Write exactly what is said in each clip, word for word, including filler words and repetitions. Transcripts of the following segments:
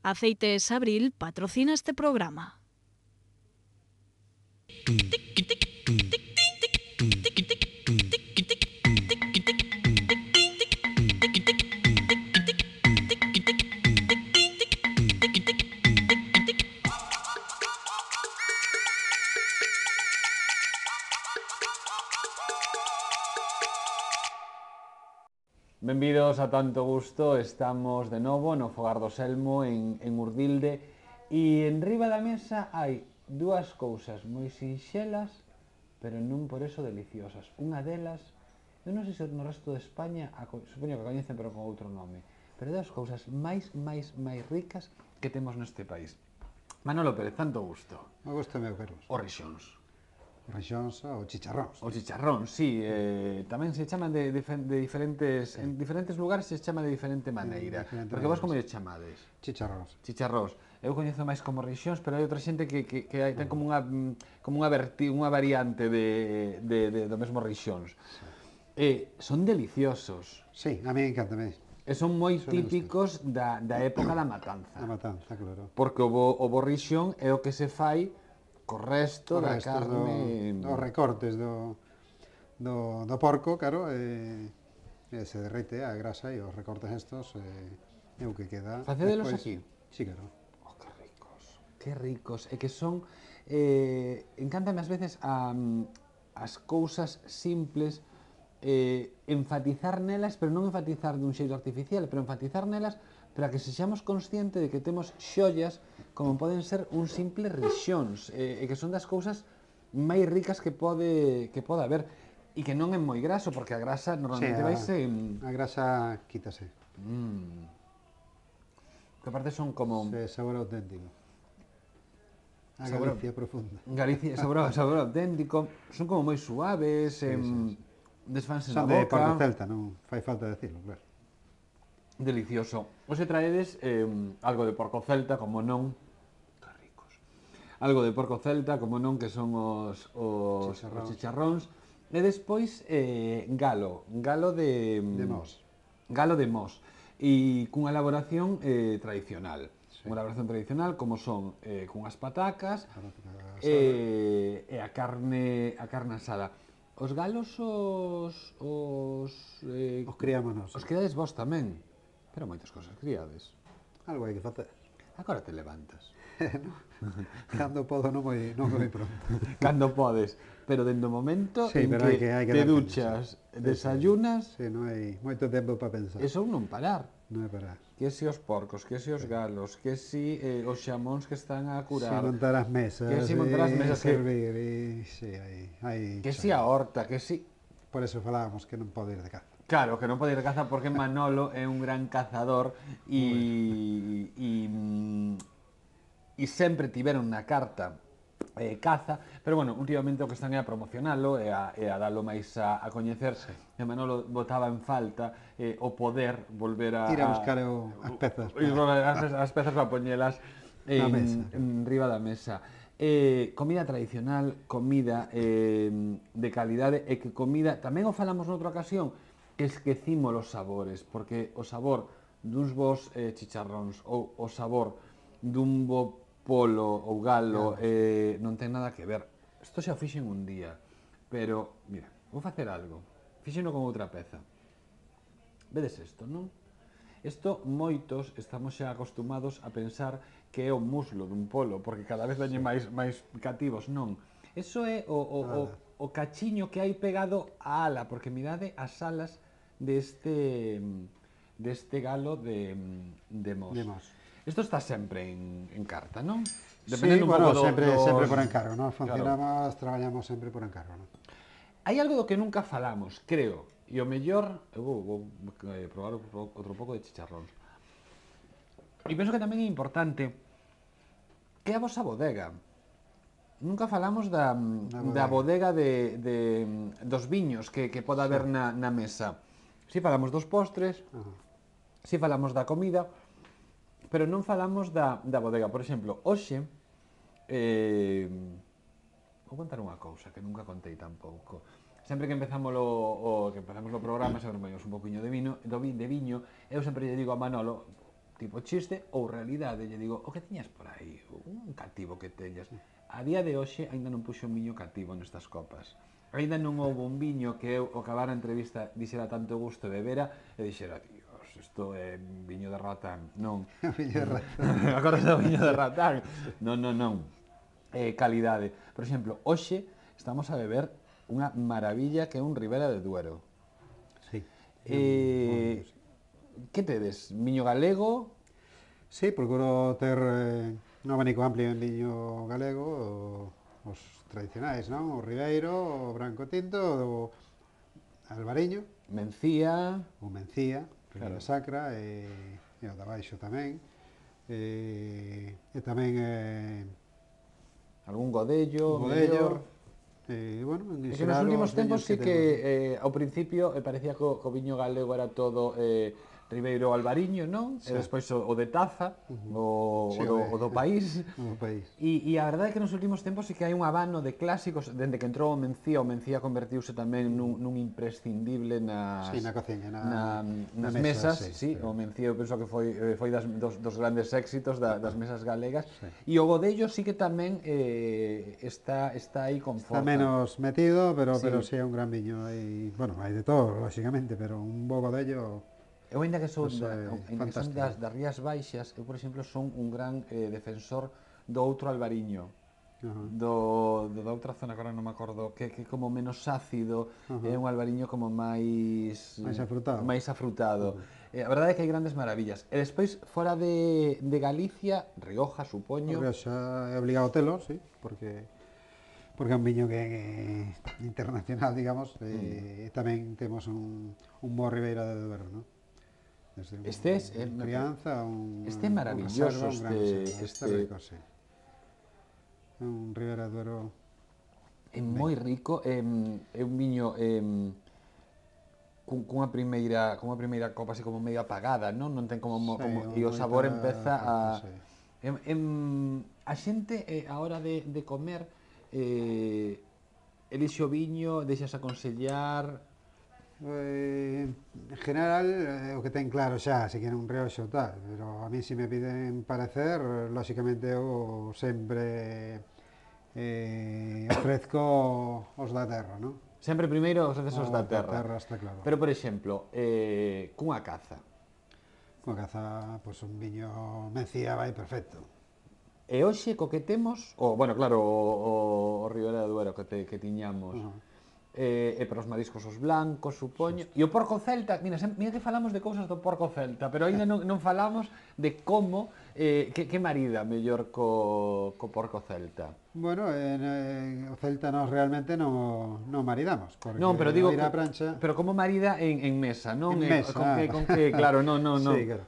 Aceites Abril patrocina este programa. Benvidos a Tanto Gusto, estamos de novo no Fogar do Selmo en, en Urdilde e en riba da mesa hai dúas cousas moi sinxelas pero non por eso deliciosas. Unha delas, eu non sei se no resto de España, a, supoño que a coñecen pero con outro nome, pero das cousas máis, máis, máis ricas que temos neste país. Manolo Pérez, Tanto Gusto. Me gusta meu, Carlos. Os rixóns. Rixóns ou chicharróns. O chicharrón, sí, eh, tamén se chaman de, de, de diferentes, sí. En diferentes lugares se chama de diferente maneira, diferente porque vos como lle chamades? Chicharróns. Chicharróns. Eu coñezo máis como rixóns, pero hai outra xente que, que, que hai, ten como unha, como unha, verti, unha variante de, de, de, do mesmo rixóns. Sí. Eh, son deliciosos. Sí, a mí encanta, me. E son moi Eso típicos da, da época da matanza. Da matanza, claro. Porque o bo, o bo rixón é o que se fai co resto da carne... Do, dos recortes do, do, do porco, claro, e, e se derrete a grasa e os recortes estos e, e o que queda... Facedelos despois... aquí? Sí, claro. Oh, que ricos, que ricos, e que son... Eh, encántame ás veces a, as cousas simples, eh, enfatizar nelas, pero non enfatizar dun xeito artificial, pero enfatizar nelas para que sexamos conscientes de que temos xollas como poden ser un simple rixóns, e, e que son das cousas máis ricas que pode que pode haber e que non é moi graso, porque a grasa normalmente sí, a, vaise... a grasa quítase. Mm. Que aparte son como... Sí, sabor auténtico. A sabor, Galicia profunda. Galicia, sabor, sabor auténtico, son como moi suaves, sí, em, sí, sí. Desfanse na boca. Son de Porco Celta, non fai falta decirlo, claro. Delicioso. Hoxe traedes eh, algo de porco celta, como non... Que ricos. Algo de porco celta, como non, que son os, os, chicharróns. os chicharróns. E despois eh, galo. Galo de... De mos. Galo de mos. E cunha elaboración eh, tradicional. Sí. Unha elaboración tradicional, como son eh, cunhas patacas e, e a carne a carne asada. Os galos os... Os, eh, os criámonos. Os criades vos tamén. Pero moitas cosas criades. Algo hai que facer. Agora te levantas. No, cando podo non moi, non moi pronto. Cando podes. Pero dentro do momento sí, en que, que, que te duchas, sí. Desayunas... Sí, non hai moito tempo para pensar. Eso non parar. Non é parar. Que si os porcos, que si os galos, que si eh, os xamóns que están a curar. Si montar as mesas. Que si montar as mesas. Servir, que... E, sí, hai, hai que si a horta, que si... Por eso falábamos que non pode ir de caza. Claro, que non pode ir de caza porque Manolo é un gran cazador e, e, e sempre tiveron na carta eh, caza, pero bueno, últimamente o que están é a promocionalo e a, e a dalo máis a, a coñecer, sí. E Manolo botaba en falta eh, o poder volver a... Ir a buscar o, as pezas. Para... As, as pezas para poñelas en, mesa, en riba da mesa. Eh, comida tradicional, comida eh, de calidade, e que comida, tamén o falamos noutra ocasión, esquecimos os sabores, porque o sabor duns bons eh, chicharróns ou o sabor dun bo polo ou galo eh, non ten nada que ver. Isto xa o fixen un día, pero, mira, vou facer algo. Fixeno con outra peza. Vedes isto, non? Isto moitos estamos xa acostumados a pensar que é o muslo dun polo, porque cada vez veñen máis, máis cativos, non. Eso é o, o, o, o cachiño que hai pegado á ala, porque mirade as alas deste deste galo de, de mos. De mos. Isto está sempre en, en carta, non? Dependendo sí, un bueno, pouco do, sempre, dos... sempre por encargo, non? Funcionamos, claro. Traballamos sempre por encargo, non? Hai algo do que nunca falamos, creo, e o mellor, eu vou, vou eh, probar outro pouco de chicharróns. E penso que tamén é importante que a vosa bodega. Nunca falamos da, bodega. da bodega de, de, dos viños que, que pode haber sí. na, na mesa. Si falamos dos postres, uh -huh. si falamos da comida, pero non falamos da, da bodega. Por exemplo, hoxe, eh, vou contar unha cousa que nunca contei tampouco. Sempre que empezamos o, o que empezamos o programa, sempre tomamos un poquinho de vino, de viño, eu sempre lle digo a Manolo, tipo chiste ou realidade, lle digo, o que tiñas por aí, un cativo que teñas. A día de hoxe aínda non puxo un viño cativo nestas copas. Aínda non houve un viño que eu, ao acabar a entrevista, dixera tanto gusto de bebera e dixera, Dios, isto é viño de ratán. Non. Viño de ratán. Agora é o viño de ratán. Non, non, non. Eh, calidade. Por exemplo, hoxe estamos a beber unha maravilla que é un Ribera de Duero. Sí. Eh, que tedes? Viño galego? Sí, procuro ter eh, un abanico amplio en viño galego, o, os tradicionais, non? O Ribeiro, o Branco Tinto, o Albariño, Mencía? o Mencía, Ribeira Claro. Sacra, e, e o da Baixo tamén. E, e tamén eh, Algún godello? o mellor? Godello. E, bueno, en É que nos xeral, últimos os tempos viños sí que, temos. eh, ao principio eh, parecía que o, que o viño galego era todo eh, Ribeiro Albariño, non? Sí. E despois o, o de Taza, o, Sí, o, do, o de- o do país. No país. E, e a verdade é que nos últimos tempos sí que hai un abano de clásicos, dende que entrou o Mencía, o Mencía convertiuse tamén nun, nun imprescindible nas, Sí, na cociña, na- na, na nas mesa, mesas, sí, sí, sí. o Mencía eu penso que foi, eh, foi das, dos, dos grandes éxitos da, das mesas galegas, Sí. e o Godello sí que tamén eh, está, está aí con Está forza. menos metido, pero, Sí. pero sí é un gran viño. E, bueno, hai de todo, lógicamente, pero un bo Godello. Eu ainda que son, Pues, da, eh, ainda que son fantástico. das, das Rías Baixas, eu, por exemplo, son un gran eh, defensor do outro Albariño. Ajá. Do, do da outra zona, agora non me acordo, que, que como menos ácido, Ajá. é un albariño como máis... Máis afrutado. máis afrutado. Eh, a verdade é que hai grandes maravillas. E despois, fora de, de Galicia, Rioja, supoño... O Rioxa é obligado telo, sí, porque porque é un viño que é internacional, digamos, e, e tamén temos un, un bo Ribeira de Duero, non? Desde un, Este es, eh, un crianza, un, este é un maravilloso, reserva, un gran este- reserva, este- este rico, sí. É un Ribeira de Duero. É moi rico, é, é un viño é, cun, cunha primeira cunha primeira copa así como medio apagada, non? Non ten como, mo- Sí, como e o moita sabor empeza a forza, sí. em, em, a xente eh, a hora de, de comer eh, elixe o viño, deixas aconsellar. Eh, en general, eh, o que ten claro xa, se queren un rioxo ou tal, pero a mí se me piden parecer, lóxicamente eu sempre eh, ofrezco os da terra, non? Sempre primeiro os accesos Os da da terra. terra, está claro. Pero, por exemplo, eh, cunha caza. Coa caza, pois un viño Mencía vai perfecto. E hoxe co que temos, o, bueno, claro, o, o, o Ribera de Duero que, te, que tiñamos, Ajá. eh, e para os mariscos os blancos, supoño, e o porco celta, mira, sem, mira que falamos de cousas do porco celta, pero aínda non, non falamos de como, eh, que, que marida mellor co, co porco celta. Bueno, en, en, o Celta nós realmente non, non maridamos, porque Non, pero digo, ir á que- prancha... pero como marida en, en mesa, non? En Eh, mesa, con que, ah. con que, claro, non, non, non. Sí, claro.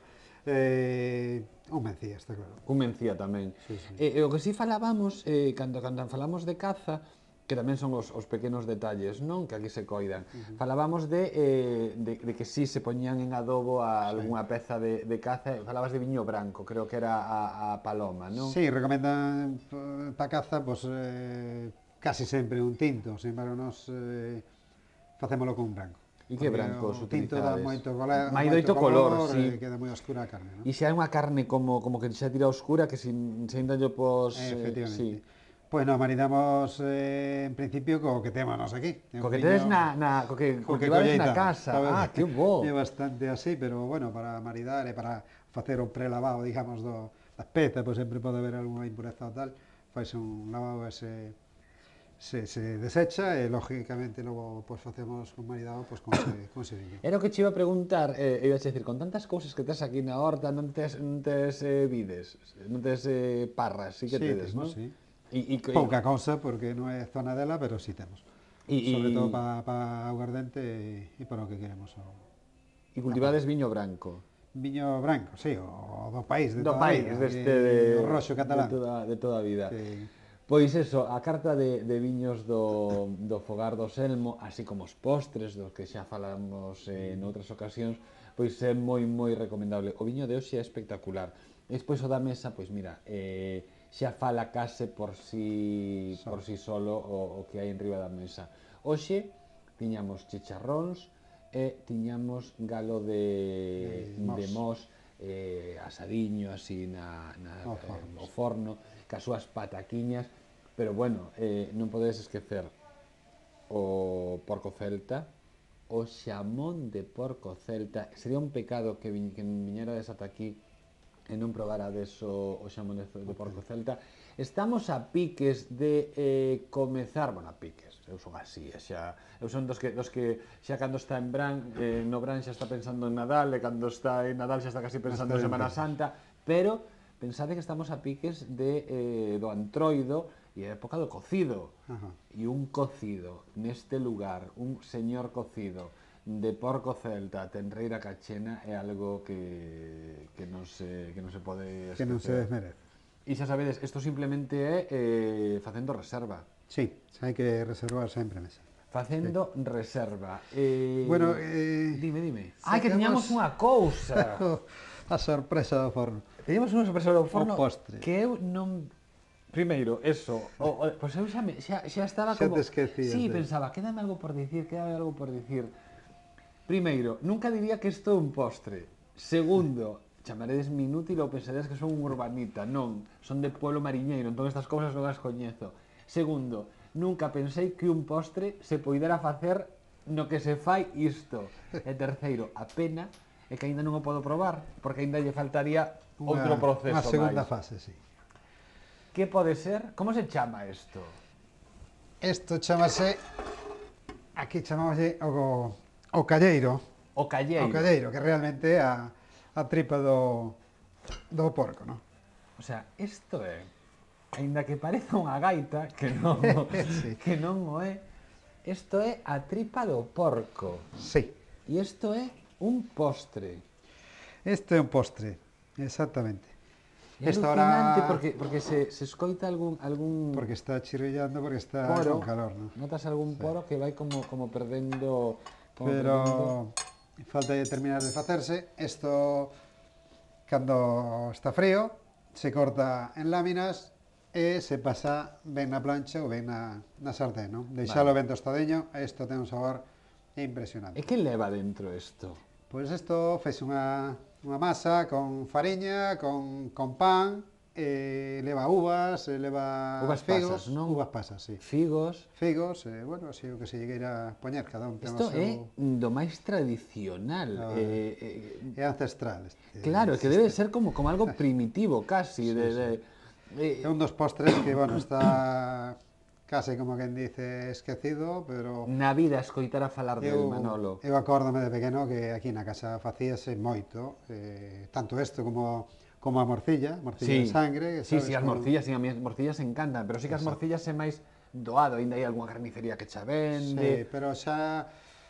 Eh, un Mencía, está claro. Cun Mencía tamén. Sí, sí. E, e o que si falábamos, eh, cando, cando falamos de caza, que tamén son os, os pequenos detalles, non? Que aquí se coidan. Uh -huh. Falábamos de, eh, de, de que si se poñían en adobo a algunha peza de, de caza, falabas de viño branco, creo que era a, a paloma, non? Sí, recomendan eh, pa caza, pois, eh, casi sempre un tinto, sin embargo, nos eh, facémolo con un branco. E que Porque brancos o tinto dá utilizades? moito, color, Mai doito color, sí. e queda moi oscura a carne, non? E se hai unha carne como, como que xa tira oscura, que se, se ainda lle pos... Eh, eh, efectivamente. sí. Pois non, maridamos eh, en principio co que temos nos aquí. É un Co que viño- tedes na, na, co que co que cultivades na colleitamos, casa. sabes? Ah, que bo. É bastante así, pero bueno, para maridar e para facer o prelavado, digamos, do, das pezas, pois sempre pode haber algunha impureza ou tal, faise un lavado e se, se, se desecha e lógicamente logo pois facemos con maridado pois con ese, con ese viño. Era o que che iba a preguntar, eh, iba a decir, con tantas cousas que tes aquí na horta, non tes, non tes eh, vides, non tes eh, parras, sí que tedes, non? temos, sí. E, e, Pouca cousa, porque non é zona dela, pero sí temos. E- Sobre e- todo para pa aguardente e, e para o que queremos. O e cultivades viño branco. viño branco, sí, o do país, de Do toda país, a vida, deste de, de, o roxo catalán. de, toda, de toda a vida. Sí. Pois eso, a carta de, de viños do, do Fogar do Selmo, así como os postres, dos que xa falamos eh, en outras ocasións, pois é moi, moi recomendable. O viño de hoxe é espectacular. E despois o da mesa, pois mira, eh, xa fala case por si, So. por si solo o, o que hai en riba da mesa. Hoxe tiñamos chicharróns e tiñamos galo de, De mos. de mos eh, asadiño, así na, na, Ao eh, forno, ao forno, cas súas pataquiñas, pero bueno, eh, non podedes esquecer o porco celta, o xamón de porco celta. Sería un pecado que, vi, que viñerades ata aquí e non probarades o, o xamón de, de porco celta. Estamos a piques de eh, comezar, bueno, a piques, eu son así, xa, eu son dos que, dos que xa cando está en Bran, eh, no Bran xa está pensando en Nadal, e cando está en Nadal xa está casi pensando en Semana Santa, pero pensade que estamos a piques de, eh, do antroido e a época do cocido. Ajá. E un cocido neste lugar, un señor cocido de porco celta a tenreira cachena é algo que, que, non, se, que non se pode esquecer. Que non se desmerece. E xa sabedes, isto simplemente é eh, facendo reserva. Sí, hai que reservar sempre mesa. Facendo sí. reserva. Eh, Bueno, eh, dime, dime. Ai, que tiñamos unha cousa. A sorpresa do forno. Teníamos unha sorpresa do forno O postre. que eu non... Primeiro, eso, o, o, pois eu xa, me, xa, xa estaba Xa como... te esquecías Sí, de... pensaba, quédame algo por dicir, quédame algo por dicir. Primeiro, nunca diría que isto é un postre. Segundo, chamaredes inútil ou pensaredes que son un urbanita. Non, son de pueblo mariñeiro, entón estas cousas non as coñezo. Segundo, nunca pensei que un postre se poidera facer no que se fai isto. E terceiro, a pena é que aínda non o podo probar, porque aínda lle faltaría outro proceso máis. Unha segunda máis. fase, sí. Que pode ser? Como se chama isto? Isto chamase, aquí chamámoslle o, o calleiro. O calleiro. O calleiro, que realmente é a, a tripa do, do porco, non? O sea, isto é, aínda que pareza unha gaita, que non, Sí. que non o é, isto é a tripa do porco. Sí. E isto é un postre. Isto é un postre, exactamente. É Esta alucinante hora... porque, porque se, se escoita algún, algún Porque está chirrillando, porque está poro, con calor, non? notas algún poro que vai como, como perdendo... Como Pero falta de terminar de facerse. Isto, cando está frío, se corta en láminas e se pasa ben na plancha ou ben na, na sartén, non? Deixalo Vale. ben tostadiño, isto ten un sabor impresionante. E que leva dentro isto? Pois isto fez unha, unha masa con fariña, con, con pan, e leva uvas, e leva Uvas figos, pasas, non? uvas pasas, sí. Figos. Figos, e, bueno, así o que se lle queira poñer, cada un ten o Isto seu... é do máis tradicional. Ah, eh, eh, É ancestral. Este, claro, que debe ser como, como algo primitivo, casi. Sí, de, sí. de, eh, É un dos postres que, bueno, está case como quen dice esquecido, pero na vida escoitar a falar del eu, Manolo. eu acórdome de pequeno que aquí na casa facíase moito, eh, tanto isto como como a morcilla, morcilla de sangre, sí, sabes, sí, as con- morcillas, sí, a mí as morcillas encantan, pero sí que as Exacto. morcillas é máis doado, ainda hai algunha carnicería que xa vende. Sí, pero xa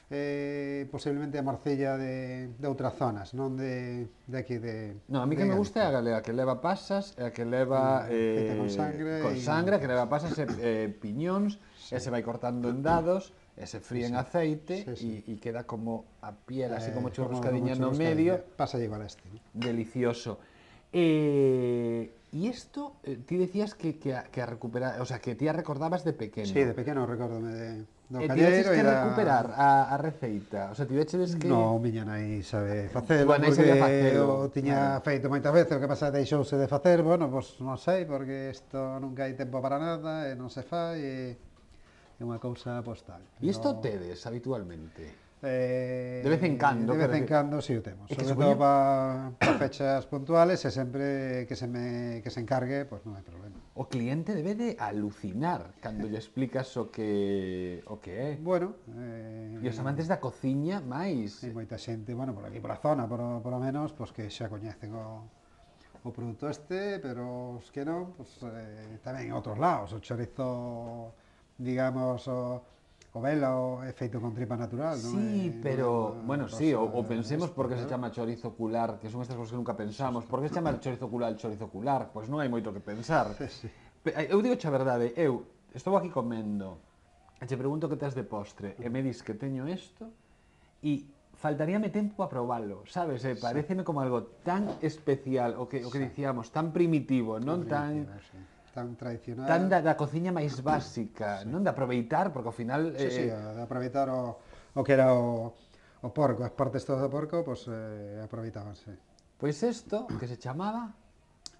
eh, posiblemente a morcilla de, de outras zonas, non de, de aquí de... No, a mí de que me gusta é a Galicia. galega, que leva pasas, e a que leva Mm, eh, feita con sangre con e- sangre, que leva pasas e eh, piñóns, e se vai cortando en dados, e se fríe en aceite, Sí, sí. e queda como a piel, así Eh, como como- churruscadiña no como medio, churruscadiña. Pasa igual a este, ¿no? delicioso. Eh, e isto, eh, ti decías que, que, a, que a recuperar, o sea, que ti a recordabas de pequeno. Sí, de pequeno recórdome de, do E ti veches calleiro que e da... recuperar a, a receita, o sea, ti veches que... No, miña nai sabe facelo, Tua nai porque sabía facelo, o tiña claro. feito moitas veces, o que pasa deixouse de facer, bueno, pois non sei, porque isto nunca hai tempo para nada, e non se fai, e é unha cousa postal. E isto tedes habitualmente? Eh, De vez en cando, De vez quero en decir. cando, si o temos. É que Sobre supoño- todo para pa fechas puntuales, e sempre que se me que se encargue, pois non hai problema. O cliente debe de alucinar cando lle explicas o que o que é. Bueno, eh, E os amantes da cociña máis. hai moita xente, bueno, por aquí, por a zona, por, por lo menos, pois que xa coñecen o, o produto este, pero os que non, pois, eh, tamén en outros lados, o chorizo, digamos, o, o velo é feito con tripa natural, non? Sí, É- pero, non é bueno, unha sí, o, cosa o pensemos por que se especial. chama chorizo ocular, que son estas cousas que nunca pensamos. Por que se chama chorizo ocular chorizo ocular? Pois non hai moito que pensar. Sí, sí. Pe- Eu digo a verdade, eu estou aquí comendo, e che pregunto que tes de postre, e me dis que teño isto, e faltaríame tempo a probalo, sabes? Eh, pareceme como algo tan especial, o que, o que dicíamos, tan primitivo, non tan... Primitivo, sí. Tan tradicional. Tan da, da cociña máis básica, non de aproveitar, porque ao final... Sí, sí, eh, de aproveitar o, o que era o, o porco, as partes todas do porco, pois eh, aproveitábanse. Pois isto, que se chamaba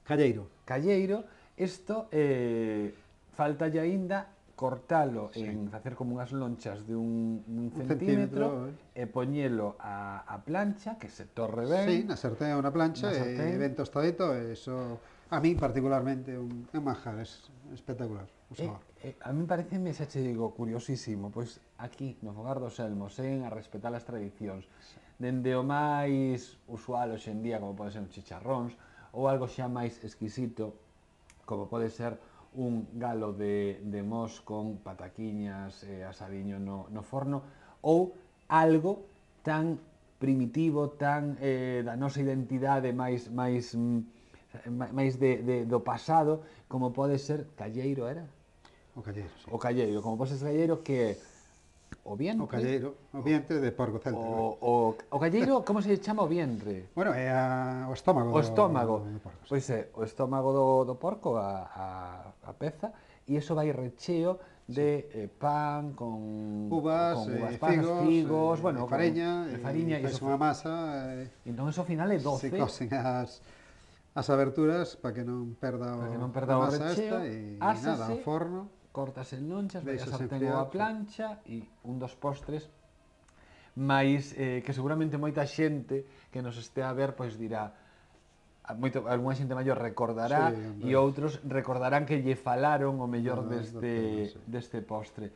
Calleiro. calleiro, isto eh, faltalle aínda cortalo Sí. en facer como unhas lonchas de un, un Un centímetro, centímetro, e poñelo a, a plancha, que se torre ben. Sí, na sartén ou na plancha, Na e sartén. ben tostadito, e iso a mí particularmente un, un manjar, es espectacular o Eh, sabor. eh, a mí pareceme, xa che digo, curiosísimo, pois aquí, no Fogar dos Elmos, en a respetar as tradicións, dende o máis usual hoxe en día, como pode ser un chicharróns, ou algo xa máis exquisito, como pode ser un galo de, de mos con pataquiñas e asadiño no, no forno, ou algo tan primitivo, tan eh, da nosa identidade máis máis mm, máis de, de, do pasado, como pode ser calleiro, era? O calleiro, sí. O calleiro, como pode ser calleiro, que é o vientre, O calleiro, o vientre de porco celta. o, o, o calleiro, como se chama o vientre? Bueno, é a, o estómago. O estómago, do, do porco. Sí. pois é, o estómago do, do porco, a, a, a peza, e iso vai recheo de eh, pan con Uvas, con uvas eh, pasas, figos, figos, eh, bueno, de fariña, con, de fariña, e e fais iso, unha masa, e entón iso ao final é doce, se cosen as, as aberturas para que non perda o, para que non perda a o masa recheo, esta, e ásase, nada, ao forno. cortas en lonchas, vai a Deixas sartén enfriar, ou a sí. plancha, e un dos postres máis eh, que seguramente moita xente que nos estea a ver pois dirá, a moito, algunha xente maior recordará, Sí, hombre. e outros recordarán que lle falaron o mellor No, deste, do tema, sí. deste postre.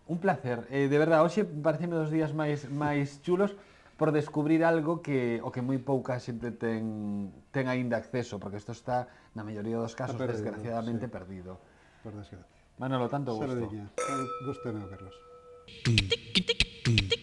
Un placer, eh, de verdade, hoxe pareceme dos días máis máis chulos por descubrir algo que o que moi pouca xente ten ten aínda acceso, porque isto está na maioría dos casos perdido, desgraciadamente sí. perdido. Por desgracia. Manolo, tanto gusto. Saludiña. Gusto meu, Carlos. Tic, tic, tic,